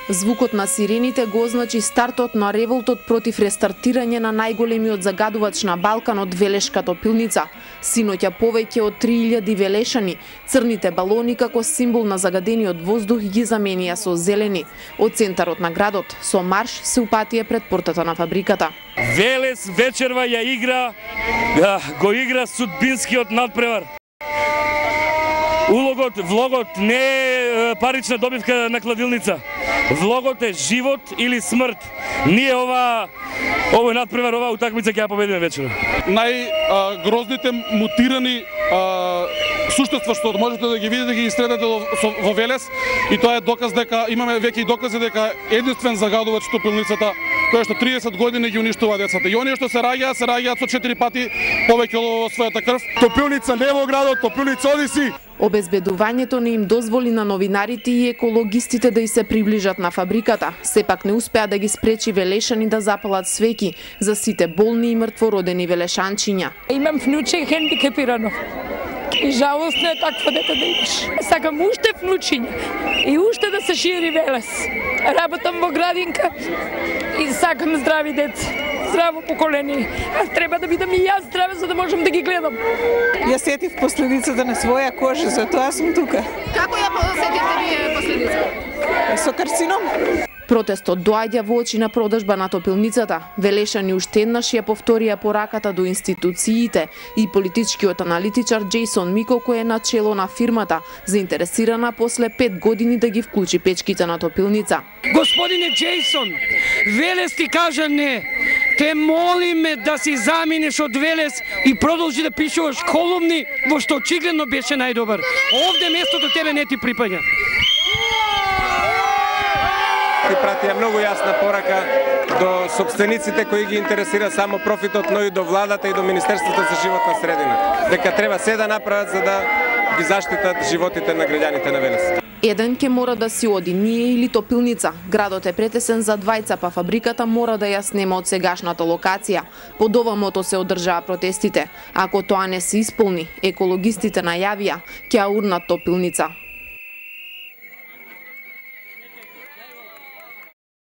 Звукот на сирените го означи стартот на револтот против рестартирање на најголемиот загадувач на Балканот, Велешка топилница. Синоќа повеќе од 3000 велешани, црните балони како символ на загадениот воздух ги заменија со зелени. Од центарот на градот со марш се упатија пред портата на фабриката. Велес вечерва ја игра, го игра судбинскиот надпревар. Влогот не е парична добивка на кладилница. Влогот е живот или смрт. Ние овој надпревар, оваа утакмица ќе ја победиме вечерва. Најгрозните мутирани суштества што можете да ги видите, ги сретнете во Велес, и тоа е доказ дека имаме веќе и докази дека единствен загадувач топилницата, кој што 30 години ги уништува децата. И оние што се раѓаат со 4 пати повеќе од својата крв. Топилница не во градот, топилница оди си. Обезбедувањето не им дозволи на новинарите и екологистите да и се приближат на фабриката. Сепак не успеа да ги спречи велешани да запалат свеќи за сите болни и мртвородени велешанчиња. Имам внуче хендикепирано. И жалостно е такво дете да имаш. Сакам уште внучиња и уште да се шири Велес. Работам во градинка и сакам здрави деца. Здраво поколение. Треба да бидам и јас здрава за да можам да ги гледам. Ја сетив последицата на своја кожа, затоа сум тука. Како ја сетивте вие последицата? Со карцином. Протестот доаѓа во очи на продажба на топилницата. Велешани уште еднаш ја повторија пораката до институциите и политичкиот аналитичар Джейсон Мико, кој е начело на фирмата, заинтересирана после 5 години да ги вклучи печките на топилница. Господине Джейсон, Велес ти кажа не. Те молиме да си заминеш од Велес и продолжи да пишуваш колумни, во што очигледно беше најдобар. Овде местото тебе не ти припаѓа. Ти пратија многу јасна порака до сопствениците кои ги интересира само профитот, но и до владата и до Министерството за животна средина. Дека треба се да направат за да ги заштитат животите на граѓаните на Велес. Еден ќе мора да си оди, ние или топилница. Градот е претесен за двајца, па фабриката мора да ја снема од сегашната локација. Под ова мото се одржаа протестите. Ако тоа не се исполни, екологистите најавија ќе ја урнат топилница.